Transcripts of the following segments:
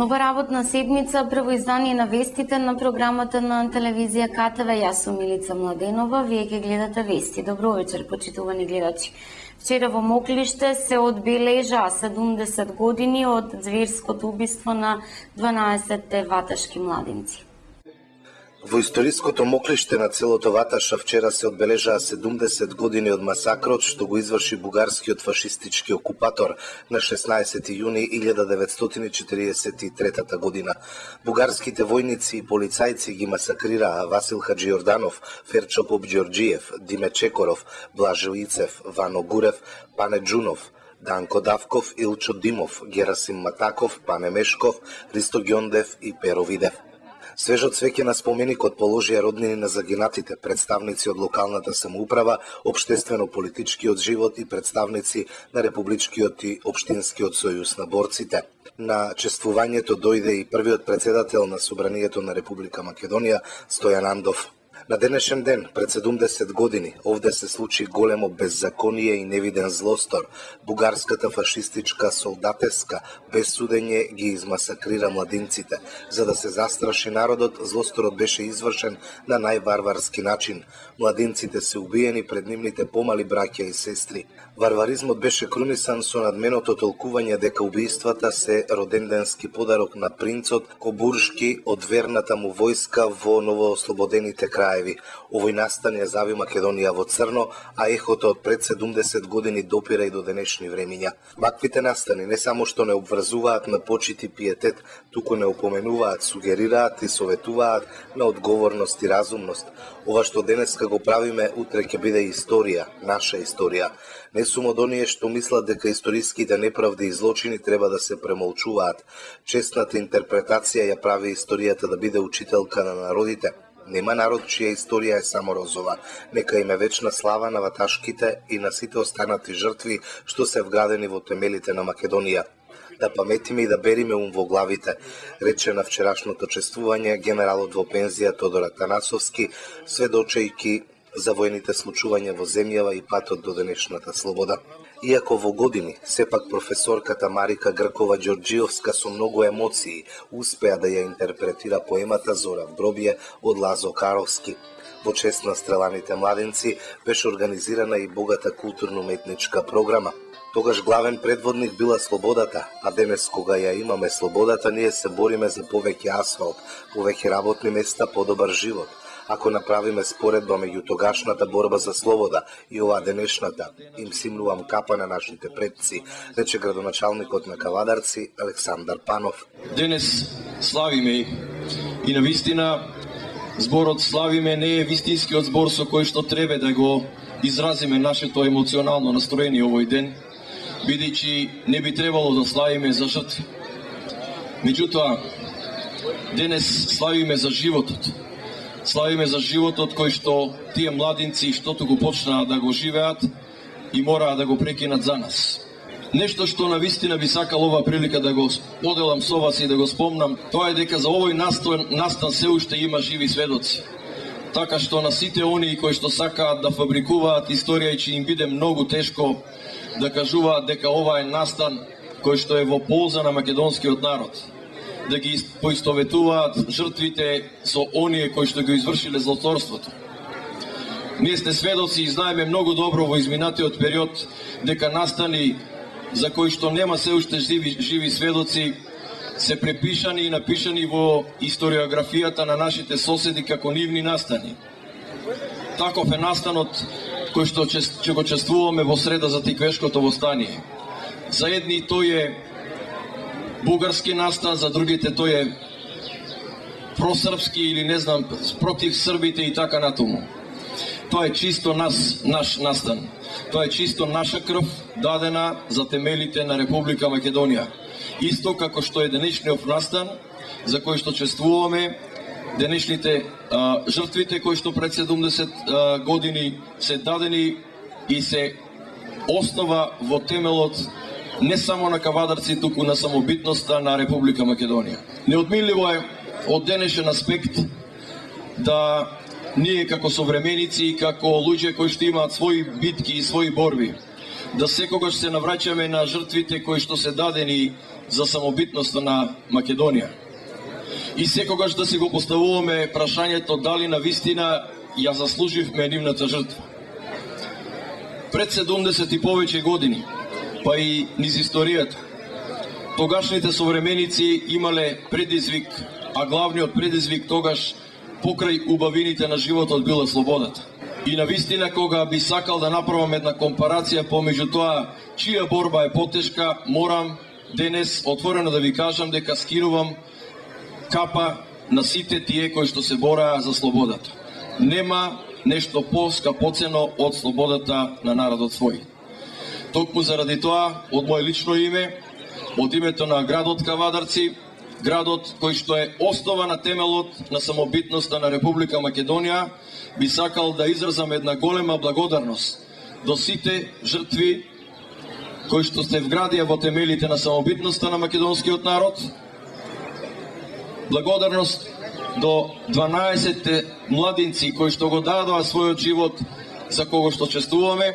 Нова работна седмица, прво издание на вестите на програмата на телевизија КТВ. Јас сум Милица Младенова, вие ќе гледате вести. Добро вечер, почитувани гледачи. Вчера во Моклиште се одбележа 70 години од зверското убиство на 12 ваташки младинци. Во историското Моклиште на селото Ваташа вчера се одбележаа 70 години од масакрот што го изврши бугарскиот фашистички окупатор на 16 јуни 1943 година. Бугарските војници и полицајци ги масакрираа Васил Хаџиорданов, Ферчо Попџорџиев, Диме Чекоров, Блаже Уицев, Вано Гурев, Пане Джунов, Данко Давков, Илчо Димов, Герасим Матаков, Пане Мешков, Ристо Ѓондев и Перо Видев. Свежо цвеќе на споменикот положија роднини на загинатите, представници од локалната самоуправа, општествено-политичкиот живот и представници на Републичкиот и Општинскиот сојуз на борците. На чествувањето дојде и првиот председател на Собранието на Република Македонија, Стојан Андов. На денешен ден, пред 70 години, овде се случи големо беззаконие и невиден злостор. Бугарската фашистичка солдатеска, без судење, ги измасакрира младинците. За да се застраши народот, злосторот беше извршен на најварварски начин. Младинците се убиени пред нивните помали браќа и сестри. Варваризмот беше крунисан со надменото толкување дека убиствата се роденденски подарок на принцот Кобуршки од верната му војска во новоослободените краеви. Овој настан ја зави Македонија во црно, а ехото од пред 70 години допира и до денешни времиња. Ваквите настани не само што не обврзуваат на почит и пиетет, туку не упоменуваат, сугерираат и советуваат на одговорност и разумност. Ова што денеска го правиме, утре ќе биде историја, наша историја. Не сум од оние што мислат дека историските неправди и злочини треба да се премолчуваат. Честната интерпретација ја прави историјата да биде учителка на народите. Нема народ чија историја е само розова. Нека им е вечна слава на ваташките и на сите останати жртви што се вградени во темелите на Македонија. Да паметиме и да бериме ум во главите, рече на вчерашното чествување генералот во пензија Тодор Атанасовски, сведочејки за војните случувања во земјава и патот до денешната слобода. Иако во години, сепак професорката Марика Гркова Ѓорџиовска со многу емоции успеа да ја интерпретира поемата Зора в гробје од Лазо Каровски. Во чест на стреланите младенци беше организирана и богата културно-уметничка програма. Тогаш главен предводник била слободата, а денес кога ја имаме слободата, ние се бориме за повеќе асфалт, повеќе работни места, подобар живот. Ако направиме споредба меѓу тогашната борба за слобода и оваа денешната, им симнувам капа на нашите предци, рече градоначалникот на Кавадарци Александар Панов. Денес славиме и навистина зборот славиме не е вистинскиот збор со кој што треба да го изразиме нашето емоционално настроение овој ден, бидејќи не би требало да славиме за жртви. Меѓутоа, денес славиме за животот. Славиме за животот кој што тие младинци штото го почнаа да го живеат и мораа да го прекинат за нас. Нешто што навистина би сакал ова прилика да го поделам со вас и да го спомнам, тоа е дека за овој настан се уште има живи сведоци. Така што на сите оние кои што сакаат да фабрикуваат историја и че им биде многу тешко да кажуваат дека ова е настан кој што е во полза на македонскиот народ, да ги поистоветуваат жртвите со оние кои што го извршиле злоторството. Ние сте сведоци и знаеме многу добро во изминатиот период дека настани за кои што нема се уште живи сведоци се препишани и напишани во историографијата на нашите соседи како нивни настани. Таков е настанот кој што ќе го чествуваме во среда за Тиквешкото востание. За едни тој е бугарски настан, за другите тој е просрпски или не знам, против србите и така натаму. Тоа е чисто наш настан. Тоа е чисто наша крв дадена за темелите на Република Македонија. Исто како што е денешниот настан за кој што чествуваме денешните жртвите кои што пред 70 години се дадени и се основа во темелот не само на Кавадарци, туку на самобитноста на Република Македонија. Неотменливо е од денешен аспект да ние како современици и како луѓе кои што имаат своји битки и своји борби, да секогаш се навраќаме на жртвите кои што се дадени за самобитноста на Македонија. И секогаш да си го поставуваме прашањето дали на вистина ја заслуживме нивната жртва. Пред 70 и повеќе години, па и низ историјата, тогашните современици имале предизвик, а главниот предизвик тогаш покрај убавините на животот била слободата. И на вистина кога би сакал да направам една компарација помеѓу тоа чија борба е потешка, морам денес отворено да ви кажам дека скинувам капа на сите тие кои што се бораа за слободата. Нема нешто поскапоцено од слободата на народот свој. Токму заради тоа, од моје лично име, од името на градот Кавадарци, градот кој што е основа на темелот на самобитноста на Република Македонија, би сакал да изразам една голема благодарност до сите жртви кои што се вградија во темелите на самобитноста на македонскиот народ. Благодарност до 12 младинци кои што го дадоа својот живот за кого што честуваме.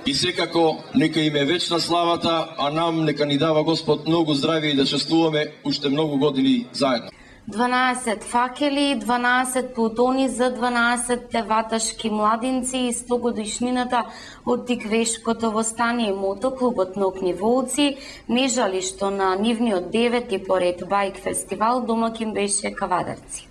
И секако нека им е вечна славата, а нам нека ни дава Господ многу здравје и да честуваме уште многу години заедно. 12 факели, 12 плутони за 12 ваташки младинци и 100 годишнината од Тиквешкото востание. Мотоклубот Нокни волци не жали што на нивниот 9-ти поред байк фестивал домакин беше Кавадарци.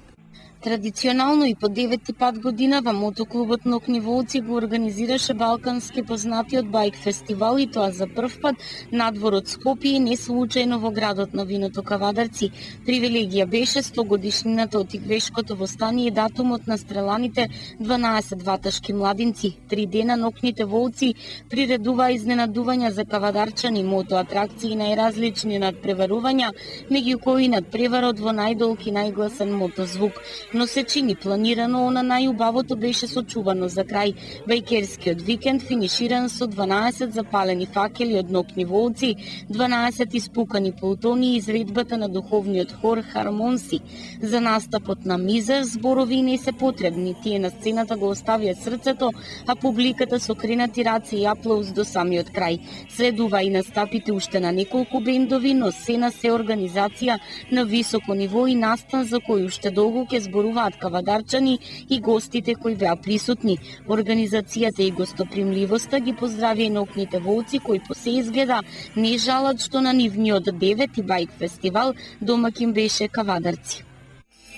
Традиционално и по 9-ти пат годинава мотоклубот Нокни волци го организираше балкански познатиот байк фестивал и тоа за прв пат надвор од Скопје и не случајно во градот на виното Кавадарци. Привилегија беше 100 годишнината од Тиквешкото востание и датумот на стреланите 12 ваташки младинци. 3 дена Нокните волци приредуваа изненадувања за кавадарчани, мотоатракции и најразлични надпреварувања, меѓу кои надпреварот во најдолг и најгласен мотозвук. Но се чини планирано, она најубавото беше сочувано за крај. Бајкерскиот викенд финиширан со 12 запалени факели од Нокни волци, 12 испукани плутони и изредбата на духовниот хор Хармонси. За настапот на мизер зборови не се потребни, тие на сцената го оставија срцето, а публиката со кренати раце и аплауз до самиот крај. Следува и настапите уште на неколку бендови, но се на се организација на високо ниво и настан за кој уште долго ќе зборуваат кавадарчани и гостите кои беа присутни. Организацијата и гостопримливоста ги поздравија и Нокните волци кои по се изгледа не жалат што на нивниот 9-ти байк фестивал домакин беше Кавадарци.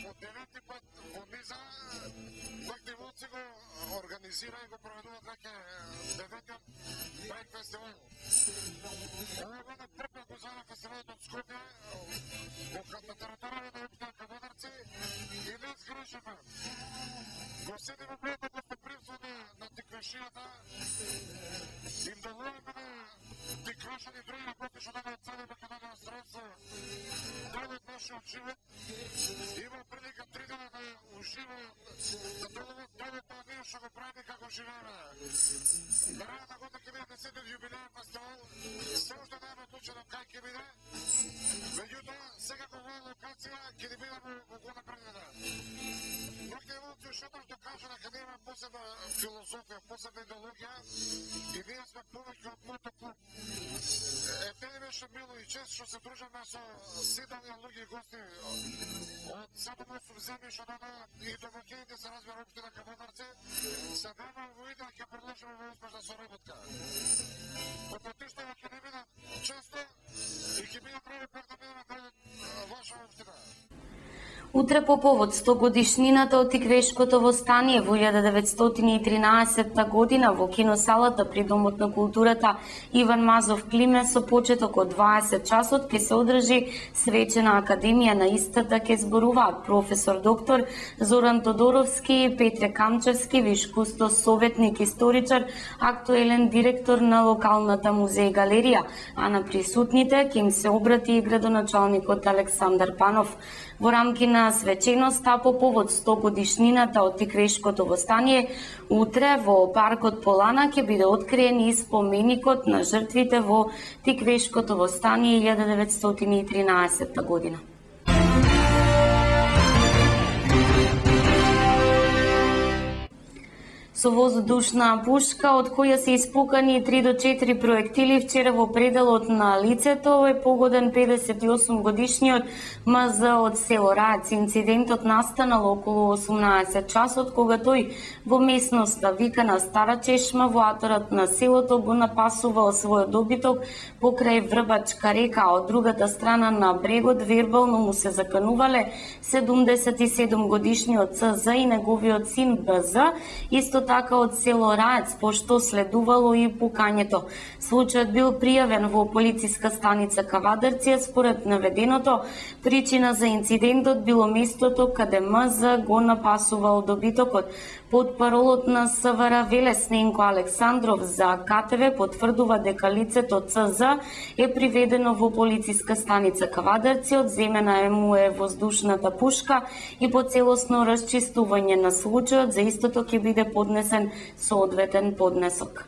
Од 9-ти пат во низа Нокни волци го организира и го проведуваат веќе 9-тиот байк фестивал. Ова го на прв пат го зова фестивалот од Скопје на територија на општина Кавадарци и не сгрешивме. Го седиме пред гостопримство на тиквешијата, им доволиме на тиквешани други гости што дадоа цели Македонија средство дел од нашиот живот. Има прилика 3 дена да ужива, да доловат тоа ние што го правиме како живееме. Наредната година ќе биде 10-тиот јубилеен фестивал, се уште не е одлучено кај ќе биде, меѓутоа секако оваа локација ќе ни биде во года предвидена. Нокни волци уште што кажа дека ние имаме посебна филозофија, посебна идеологија и ние сме повеќе од мотоклуб. Не ни беше мило и чест што се дружиме со 7 луѓе и гости од 7-8 земји што доаѓаат и домаќините се разбира општина Кавадарци. Се надевам во идеја ќе продолжиме во успешна соработка. Потпатиштава ќе не бидат често и ќе бидат прави пак да бидеме кај ваша општина. Утре по повод 100 годишнината од Тиквешкото востание во 1913 година во киносалата при Домот на културата Иван Мазов Климе со почеток од 20 часот ќе се одржи свечена академија. На истата ќе зборуваат професор доктор Зоран Тодоровски, Петре Камчевски, виш кустос, советник, историчар, актуелен директор на локалната музеј галерија, а на присутните ќе им се обрати и градоначалникот Александар Панов. Во рамки на свеченоста по повод 100 годишнината од Тиквешкото востание, утре во паркот Полана ќе биде откриен и споменикот на жртвите во Тиквешкото востание 1913 година. со воздушна пушка, од која се испукани 3 до 4 проектили вчера во пределот на лицето е погоден 58 годишниот МЗ од село Раец. Инцидентот настанал околу 18 часот, кога тој во местноста викана Стара Чешма во аторот на селото го напасувал својот добиток покрај Врбачка река, а од другата страна на брегот вербално му се заканувале 77 годишниот ЦЗ и неговиот син БЗ, исто така од село Раец, пошто следувало и пукањето. Случајот бил пријавен во полициска станица Кавадарци, според наведеното, причина за инцидентот било местото каде МЗ го напасувал добитокот. Потпаролот на СВР Велесненко Александров за КТВ потврдува дека лицето ЦЗ е приведено во полициска станица Кавадарци, одземена му е воздушната пушка и по целосно расчистување на случајот за истото ќе биде поднесен соодветен поднесок.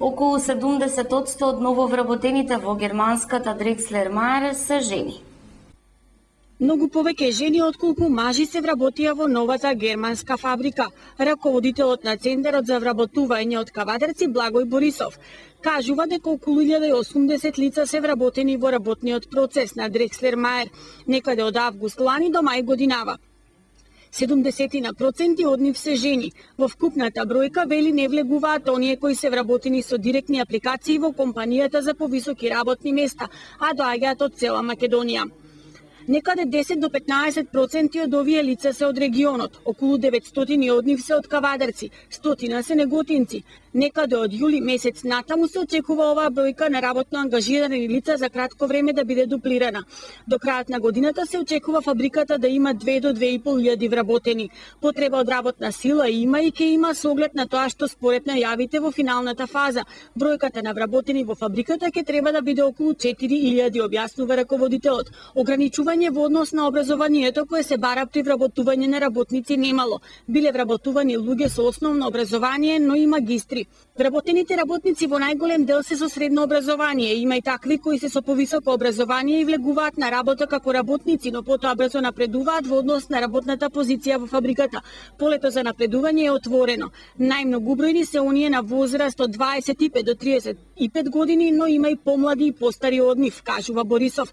Околу 70% од нововработените во германската Дрекслер Мајер се жени. Многу повеќе жени отколку мажи се вработија во новата германска фабрика. Раководителот на Центарот за вработување од Кавадарци Благој Борисов кажува дека околу 1080 лица се вработени во работниот процес на Дрекслер Мајер некаде од август лани до мај годинава. 70% од нив се жени. Во вкупната бројка вели не влегуваат оние кои се вработени со директни апликации во компанијата за повисоки работни места, а доаѓаат од цела Македонија. Некаде 10 до 15% од овие лица се од регионот, околу 900 од нив се од Кавадарци, 100 се неготинци. Некаде од јули месец натаму се очекува оваа бројка на работно ангажирани лица за кратко време да биде дуплирана. До крајот на годината се очекува фабриката да има 2 до 2.500 вработени. Потреба од работна сила има и ќе има со оглед на тоа што според најавите во финалната фаза. Бројката на вработени во фабриката ќе треба да биде околу 4.000, објаснува раководителот. Ограничување во однос на образованието кое се бара при вработување на работници немало. Биле вработувани луѓе со основно образование, но и магистри. Вработените работници во најголем дел се со средно образование. Има и такви кои се со повисоко образование и влегуваат на работа како работници, но потоа брзо напредуваат во однос на работната позиција во фабриката. Полето за напредување е отворено. Најмногу бројни се оние на возраст од 25 до 35 години, но има и помлади и постари од нив, кажува Борисов.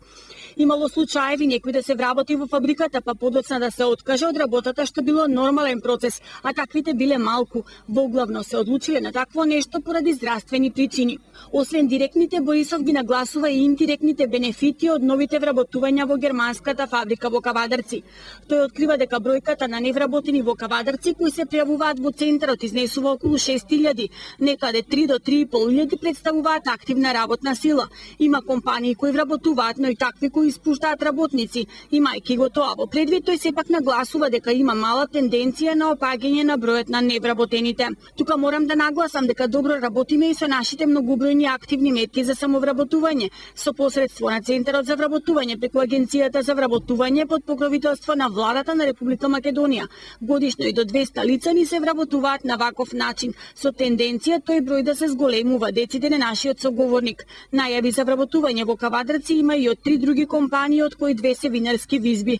Имало случаеви некој да се вработи во фабриката, па подоцна да се откаже од работата, што било нормален процес, а таквите биле малку. Воглавно се одлучиле на такво нешто поради здравствени причини. Освен директните, Борисов ги нагласува и индиректните бенефити од новите вработувања во германската фабрика во Кавадарци. Тој открива дека бројката на невработени во Кавадарци кои се пријавуваат во центарот изнесува околу 6000, некаде 3 до 3.500 представуваат активна работна сила. Има компании кои вработуваат, но и такви кои испуштаат работници. Имајќи го тоа во предвид, тој сепак нагласува дека има мала тенденција на опаѓање на бројот на невработените. Тука морам да нагласам дека добро работиме и со нашите многобројни активни метки за самовработување, со посредство на Центарот за вработување преку Агенцијата за вработување под покровителство на владата на Република Македонија. Годишно и до 200 лица ни се вработуваат на ваков начин, со тенденција тој број да се зголемува, деците на нашиот соговорник. Најави за вработување во Кавадарци има и од 3 други компании, од кои 2 се винарски визби.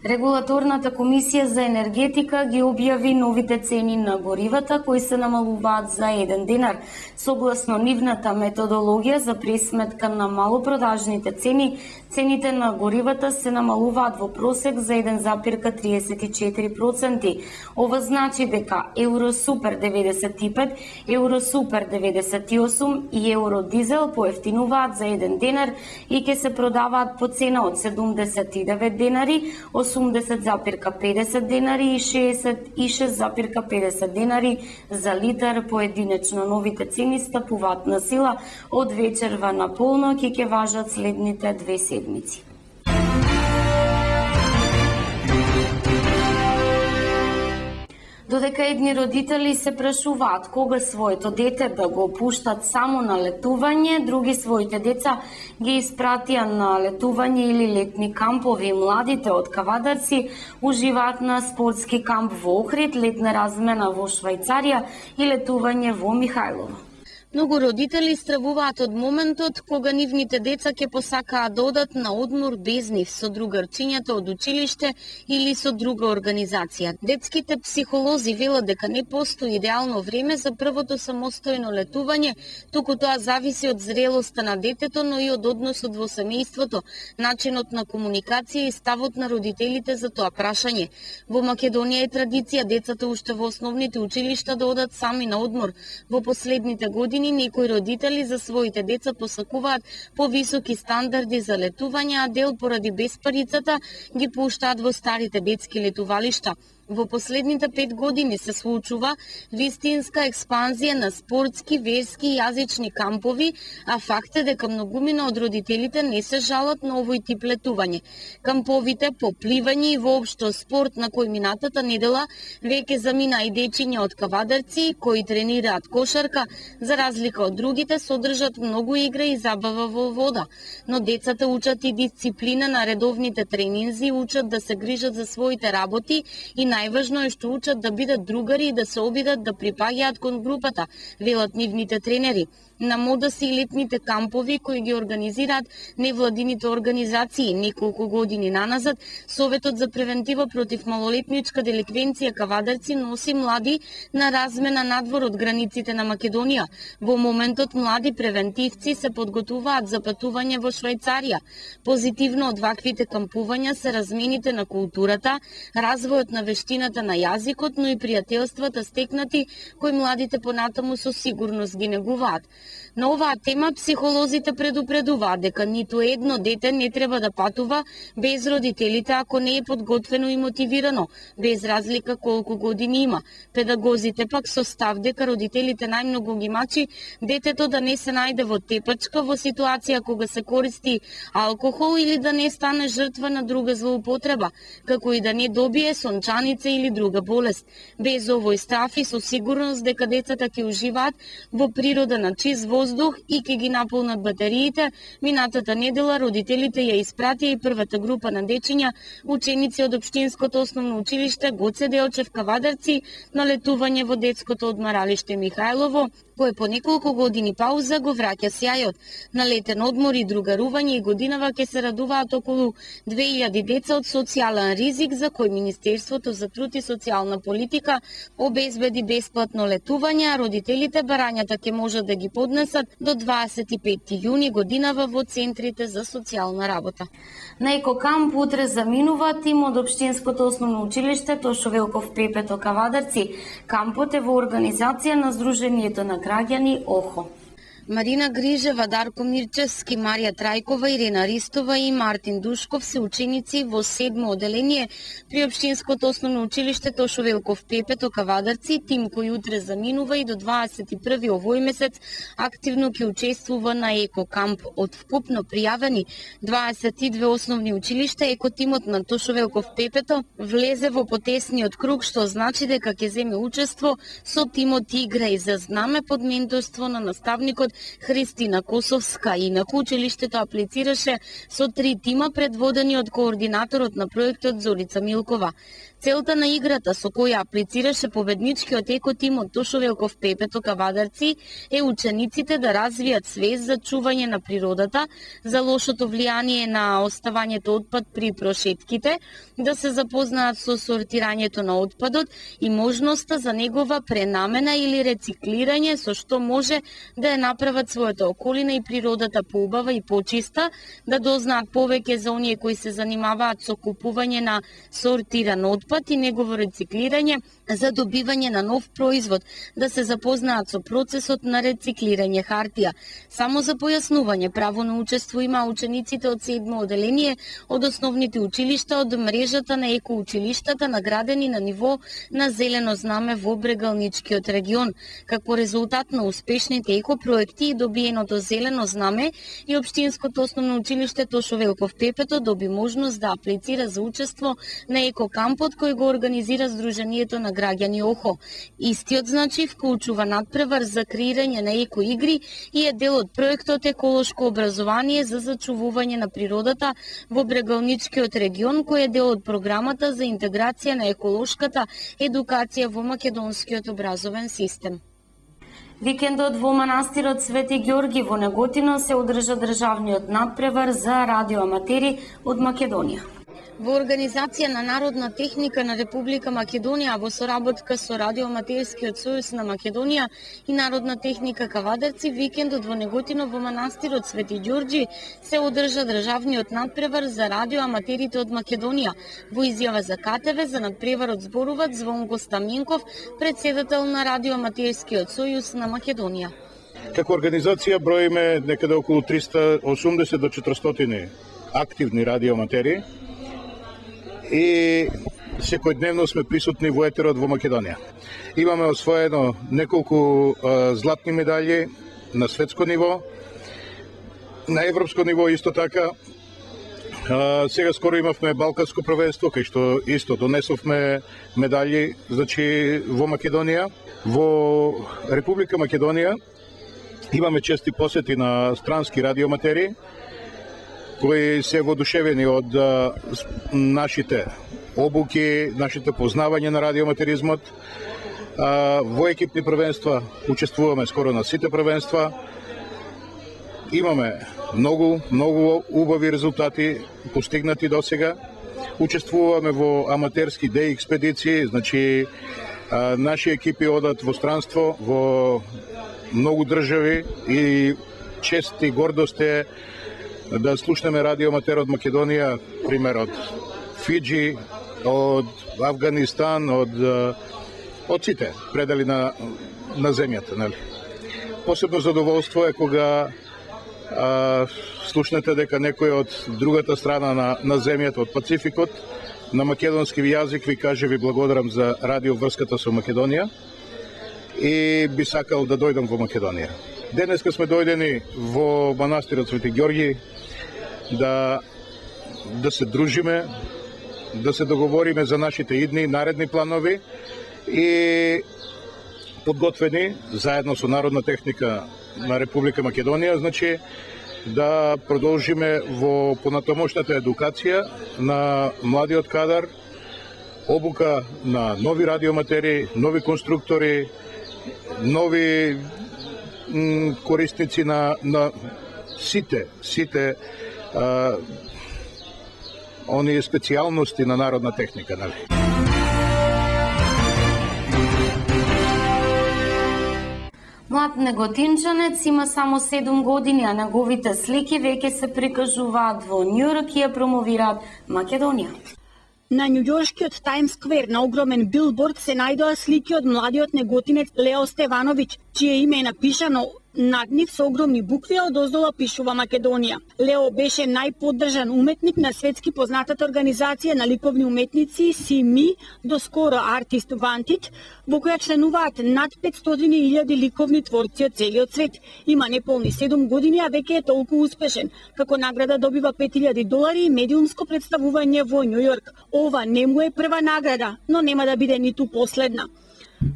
Регулаторната комисија за енергетика ги објави новите цени на горивата кои се намалуваат за 1 динар. Согласно нивната методологија за пресметка на малопродажните цени, цените на горивата се намалуваат во просек за 1,34%. Ова значи дека Евросупер 95, Евросупер 98 и Евродизел поевтинуваат за 1 динар и ќе се продаваат по цена од 79 денари, 80,50 денари и 66,50 денари за литар поединечно. Новите цени стапуваат на сила од вечерва на полноќ и ќе важат следните 2 седмици. Додека едни родители се прашуваат кога своето дете да го пуштат само на летување, други своите деца ги испратија на летување или летни кампови. Младите од Кавадарци уживаат на спортски камп во Охрид, летна размена во Швајцарија и летување во Михајлово. Многу родители стравуваат од моментот кога нивните деца ќе посакаат да одат на одмор без нив со другарчињата од училиште или со друга организација. Детските психолози велат дека не постои идеално време за првото самостојно летување, туку тоа зависи од зрелоста на детето, но и од односот во семејството, начинот на комуникација и ставот на родителите за тоа прашање. Во Македонија е традиција децата уште во основните училишта да одат сами на одмор. Во последните години некои родители за своите деца посакуваат повисоки стандарди за летување, а дел поради беспарицата ги пуштаат во старите детски летувалишта. Во последните 5 години се случува вистинска експанзија на спортски, верски и јазични кампови, а факт е дека многумина од родителите не се жалат на овој тип летување. Камповите по пливање и воопшто спорт на кој минатата недела веќе замина и дечиња од Кавадарци кои тренираат кошарка, за разлика од другите содржат многу игра и забава во вода. Но децата учат и дисциплина на редовните тренинзи, учат да се грижат за своите работи и најважно е што учат да бидат другари и да се обидат да припаѓаат кон групата, велат нивните тренери. На мода се и летните кампови кои ги организираат невладините организации. Неколку години наназад, Советот за превентива против малолетничка деликвенција Кавадарци носи млади на размена надвор од границите на Македонија. Во моментот млади превентивци се подготуваат за патување во Швајцарија. Позитивно од ваквите кампувања се размените на културата, развојот на вештината на јазикот, но и пријателствата стекнати кои младите понатаму со сигурност ги негуваат. На оваа тема психолозите предупредуваат дека ниту едно дете не треба да патува без родителите ако не е подготвено и мотивирано, без разлика колку години има. Педагозите пак со став дека родителите најмногу ги мачи детето да не се најде во тепачка во ситуација кога се користи алкохол или да не стане жртва на друга злоупотреба, како и да не добие сончаница или друга болест. Без овој став и со сигурност дека децата ќе уживаат во природа на чист воздух и ќе ги наполнат батериите, минатата недела родителите ја испратија и првата група на дечиња, ученици од Општинското основно училиште Гоце Делчев Кавадарци, на летување во детското одмаралиште Михајлово, кое по неколку години пауза го враќа сјајот. На летен одмор и другарување и годинава ќе се радуваат околу 2000 деца од социјален ризик за кој Министерството за труд и социјална политика обезбеди бесплатно летување, а родителите барањата ќе можат да ги поднесат до 25 јуни годинава во центрите за социјална работа. На екокамп утре заминува тим од Општинското основно училиште Тошо Велков Пепето Кавадарци. Кампот е во организација на Сдруженијето на граѓани ОХО. Марина Грижева, Дарко Мирчевски, Марија Трајкова, Ирена Ристова и Мартин Душков се ученици во 7-мо оделение при Општинското основно училиште Тошо Велков Пепето Кавадарци, тим кој утре заминува и до 21 овој месец активно ќе учествува на екокамп. Од вкупно пријавени 22 основни училишта, екотимот на Тошо Велков Пепето влезе во потесниот круг, што значи дека ќе земе учество со тимот Игра и за знаме под менторство на наставникот Христина Косовска. Инаку училиштето аплицираше со 3 тима предводени од координаторот на проектот Зорица Милкова. Целта на играта со која аплицираше победничкиот екотим од Тошо Велков Пепето Кавадарци е учениците да развијат свест за чување на природата, за лошото влијание на оставањето отпад при прошетките, да се запознаат со сортирањето на отпадот и можноста за негова пренамена или рециклирање, со што може да ја направат својата околина и природата поубава и почиста, да дознаат повеќе за оние кои се занимаваат со купување на сортиран отпад и негово рециклирање, за добивање на нов производ, да се запознаат со процесот на рециклирање хартија. Само за појаснување, право на учество има учениците од 7-мо оделение од основните училишта од мрежата на екоучилиштата наградени на ниво на зелено знаме во Брегалничкиот регион. Како резултат на успешните екопроекти и добиеното зелено знаме, и Општинското основно училиште Тошо Велков Пепето доби можност да аплицира за учество на екокампот кој го организира Сдруженијето на граѓани ОХО. Истиот значи вклучува надпревар за креирање на екоигри и е дел од проектот Еколошко образование за зачувување на природата во Брегалничкиот регион, кој е дел од програмата за интеграција на еколошката едукација во македонскиот образовен систем. Викендот во манастирот Свети Ѓорги во Неготино се одржа државниот надпревар за радиоаматери од Македонија. Во организација на Народна техника на Република Македонија во соработка со Радиоаматерскиот сојуз на Македонија и Народна техника Кавадарци, викендот во Неготино во манастирот Свети Ѓорги се одржа државниот надпревар за радиоаматерите од Македонија. Во изјава за КТВ за надпреварот зборуваат Звонко Стаменков, председател на Радиоаматерскиот сојуз на Македонија. Како организација броиме некаде околу 380 до 400 активни радиоаматери и секојдневно сме присутни во етерот во Македонија. Имаме освоено неколку златни медали на светско ниво, на европско ниво исто така. Сега скоро имавме Балканско првенство, кај што исто донесовме медали, значи во Македонија. Во Република Македонија имаме чести посети на странски радиоаматери кои се воодушевени од нашите обуки, нашите познавање на радиоаматеризмот. Во екипни првенства учествуваме скоро на сите првенства. Имаме многу убави резултати постигнати досега. Учествуваме во аматерски деј експедиции, значи наши екипи одат во странство, во многу држави и чест и гордост е да слушнеме радиоаматер од Македонија, пример од Фиджи, од Авганистан, од сите предели на земјата, нели? Посебно задоволство е кога слушнете дека некој од другата страна на земјата, од Пацификот, на македонски јазик ви каже ви благодарам за радиоврската со Македонија и би сакал да дојдам во Македонија. Денеска сме дојдени во манастирот Свети Ѓорги да се дружиме, да се договориме за нашите идни наредни планови и подготвени заедно со Народна техника на Република Македонија, значи да продолжиме во понатомошната едукација на младиот кадар, обука на нови радиоаматери, нови конструктори, нови корисници на сите оние специјалности на народна техника, нали? Млад неготинчанец има само 7 години, а неговите слики веќе се прикажуваат во Њујорк и ја промовираат Македонија. На њујоршкиот Таймс Сквер на огромен билборд се најдоа слики од младиот неготинец Лео Стевановиќ, чие име е напишано над нив со огромни букви, а одоздола пишува Македонија. Лео беше најподдржан уметник на светски познатата организација на ликовни уметници CME, доскоро Artist Vantage, во која членуваат над 500.000 ликовни творци од целиот свет. Има неполни 7 години, а веќе е толку успешен. Како награда добива $5,000 и медиумско представување во Њујорк. Ова не му е прва награда, но нема да биде ниту последна.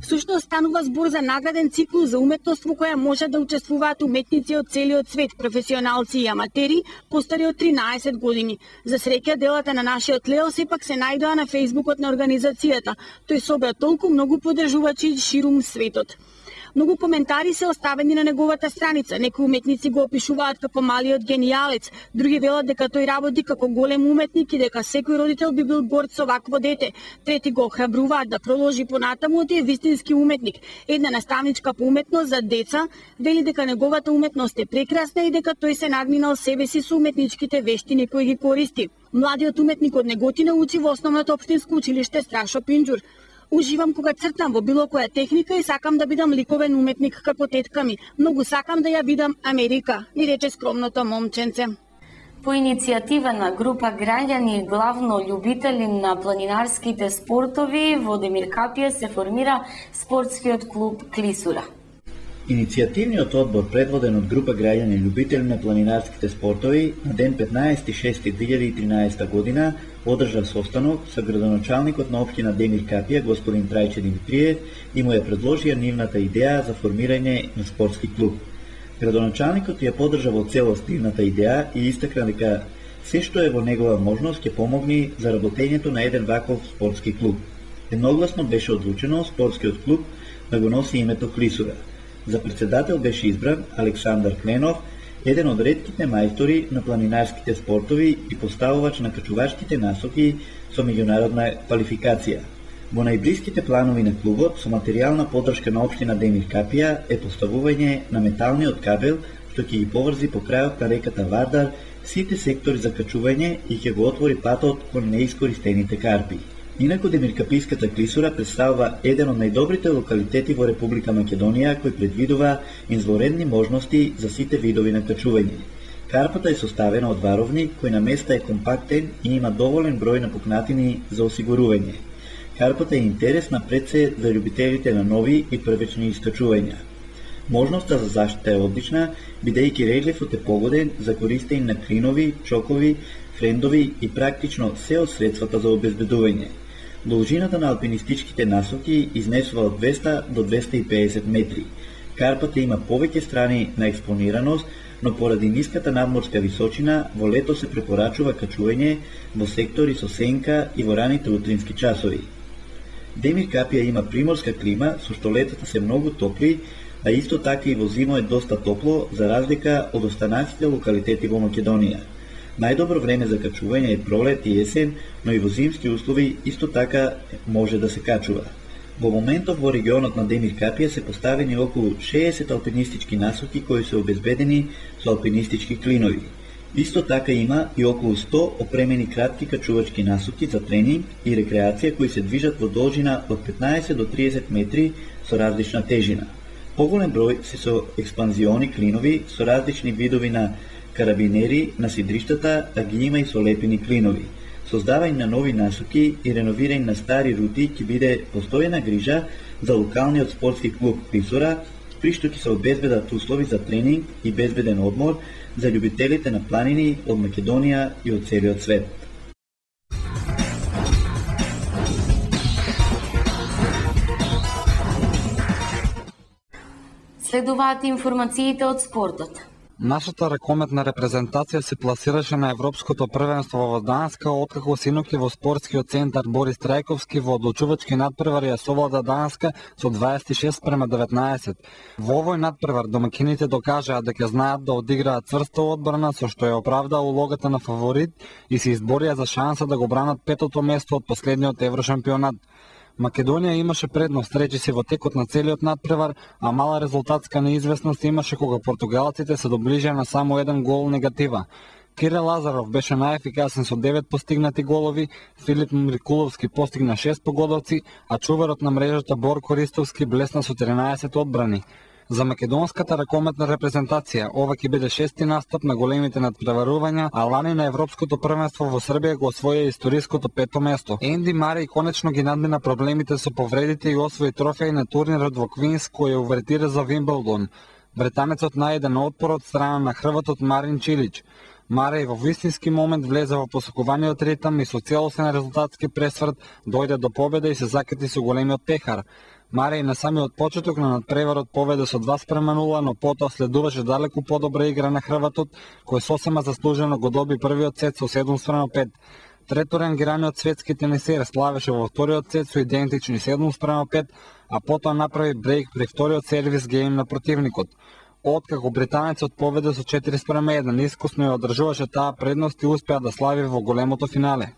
Всушност станува збор за награден циклус за уметност во која може да учествуваат уметници од целиот свет, професионалци и аматери, постари од 13 години. За среќа делата на нашиот Лео сепак се најдоа на фејсбукот на организацијата. Тој собра толку многу поддржувачи ширум светот. Многу коментари се оставени на неговата страница. Некои уметници го опишуваат како малиот генијалец, други велат дека тој работи како голем уметник и дека секој родител би бил горд со вакво дете. Трети го охрабруваат да продолжи понатаму и е вистински уметник. Една наставничка по уметност за деца вели дека неговата уметност е прекрасна и дека тој се надминал себе си со уметничките вештини кои ги користи. Младиот уметник од Неготина учи во основното општинско училиште Страшо Пинџур. Уживам кога цртам во било која техника и сакам да бидам ликовен уметник како тетка ми. Многу сакам да ја видам Америка, ни рече скромното момченце. По иницијатива на група граѓани, главно љубители на планинарските спортови, во Демир Капија се формира спортскиот клуб Клисура. Иницијативниот одбор, предводен од група граѓани љубители на планинарските спортови, на ден 15.6.2013 година одржа состанок со градоначалникот на општина Демир Капија, господин Трајче Димитриев, и му ја предложија нивната идеја за формирање на спортски клуб. Градоначалникот ја поддржа во целост нивната идеја и истакна дека се што е во негова можност ќе помогне за работењето на еден ваков спортски клуб. Едногласно беше одлучено спортскиот клуб да го носи името Клисура. За председател беше избран Александар Кленов, еден од ретките мајстори на планинарските спортови и поставувач на качувачките насоки со меѓународна квалификација. Во најблиските планови на клубот со материјална поддршка на општина Демир Капија е поставување на металниот кабел што ќе ги поврзи по крајот на реката Вардар сите сектори за качување и ќе го отвори патот кон неискористените карпи. Инаку Демиркаписката клисура представува еден од најдобрите локалитети во Република Македонија кој предвидува изворедни можности за сите видови на качување. Карпата е составена од варовник кој на места е компактен и има доволен број на пукнатини за осигурување. Карпата е интересна пред се за љубителите на нови и првечни искачувања. Можноста за заштита е одлична, бидејќи релјефот е погоден за користење на клинови, чокови, френдови и практично се од средствата за обезбедување. Должината на алпинистичките насоки изнесува од 200 до 250 метри. Карпата има повеќе страни на експонираност, но поради ниската надморска височина во лето се препорачува качување во сектори со сенка и во раните утрински часови. Демир Капија има приморска клима со што летата се многу топли, а исто така и во зимо е доста топло за разлика од останатите локалитети во Македонија. Најдобро време за качување е пролет и есен, но и во зимски услови исто така може да се качува. Во моментов во регионот на Демир Капија се поставени околу 60 алпинистички насоки кои се обезбедени со алпинистички клинови. Исто така има и околу 100 опремени кратки качувачки насоки за тренинг и рекреација кои се движат во должина од 15 до 30 метри со различна тежина. Поголем број се со експанзиони клинови со различни видови на карабинери на сидриштата, а ги има и со лепени клинови. Создавање на нови насоки и реновирање на стари рути ќе биде постојна грижа за локалниот спортски клуб Клисура, при што ќе се обезбедат услови за тренинг и безбеден одмор за љубителите на планини од Македонија и од целиот свет. Следуваат информациите од спортот. Нашата ракометна репрезентација се пласираше на Европското првенство во Данска, откако синоќи во спортскиот центар Борис Трајковски во одлучувачки надпревар ја совлада Данска со 26:19. Во овој надпревар домакините докажаа дека знаат да одиграат цврста одбрана со што ја оправдаа улогата на фаворит и се изборија за шанса да го бранат петото место од последниот еврошампионат. Македонија имаше предност, речиси во текот на целиот надпревар, а мала резултатска неизвестност имаше кога португалците се доближија на само еден гол негатива. Кирил Лазаров беше најефикасен со 9 постигнати голови, Филип Мрикуловски постигна 6 погодовци, а чуварот на мрежата Борко Ристовски блесна со 13 одбрани. За македонската ракометна репрезентација ова ќе биде шести настап на големите надпреварувања, а лани на Европското првенство во Србија го освоја историското пето место. Енди Мареј конечно ги надмина проблемите со повредите и освои трофеј на турнирот во Квинс кој ја увертира за Вимблдон. Британецот најде на отпор од страна на хрватот Марин Чилич. Мареј во вистински момент влезе во посокуваниот ритам и со целосен резултатски пресврт дојде до победа и се закати со големиот пехар. Мареј на самиот почеток на надпреварот поведе со 2:0, но потоа следуваше далеку подобра игра на хрватот, кој сосема заслужено го доби првиот сет со 7:5. Трето рангираниот светски тенисер славеше во вториот сет со идентични 7:5, а потоа направи брейк при вториот сервис гейм на противникот. Откако британецот поведе со 4:1, искусно ја одржуваше таа предност и успеа да слави во големото финале.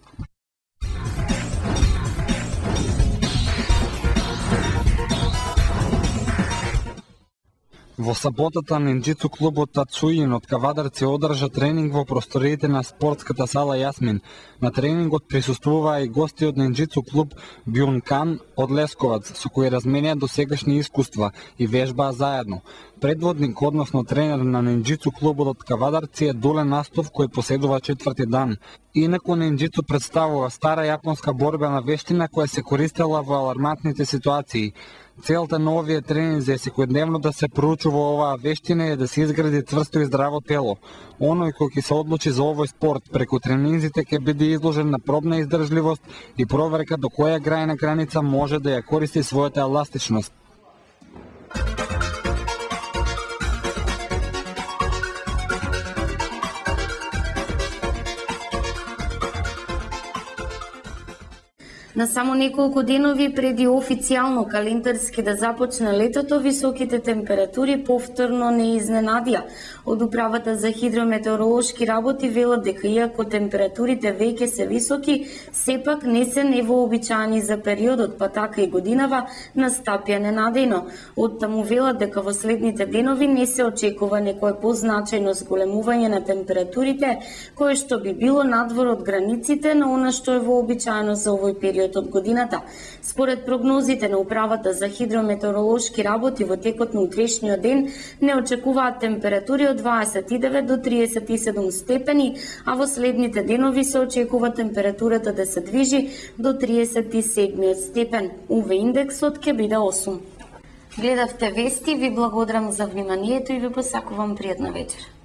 Во саботата нинџицу клубот Тацуин од Кавадарци одржа тренинг во просториите на спортската сала Јасмин. На тренингот присуствуваа и гости од нинџицу клуб Бјункан од Лесковац, со кои разменија досегашни искуства и вежбаа заедно. Предводник, односно тренер на нинџицу клубот од Кавадарци е Дулен Астов, кој поседува 4ти дан. Инаку нинџицу представува стара јапонска борбена вештина која се користела во алармантните ситуации. Целта на овие тренинзи е секојдневно да се проучува оваа вештина и да се изгради цврсто и здраво тело. Оној кој ќе се одлучи за овој спорт преку тренинзите ќе биде изложен на пробна издржливост и проверка до која крајна граница може да ја користи својата еластичност. На само неколку денови преди официјално календарски да започне летото, високите температури повторно не изненадија. Од Управата за хидрометеоролошки работи велат дека иако температурите веќе се високи, сепак не се невообичаени за периодот, па така и годинава настапја ненадејно. Од таму велат дека во следните денови не се очекува некое позначајно зголемување на температурите, кое што би било надвор од границите на она што е вообичаено за овој период од годината. Според прогнозите на Управата за хидрометеоролошки работи, во текот на утрешниот ден не очекуваат температури од 29 до 37 степени, а во следните денови се очекува температурата да се движи до 37 степен. УВ индексот ќе биде 8. Гледавте вести, ви благодарам за вниманието и ви посакувам пријатна вечер.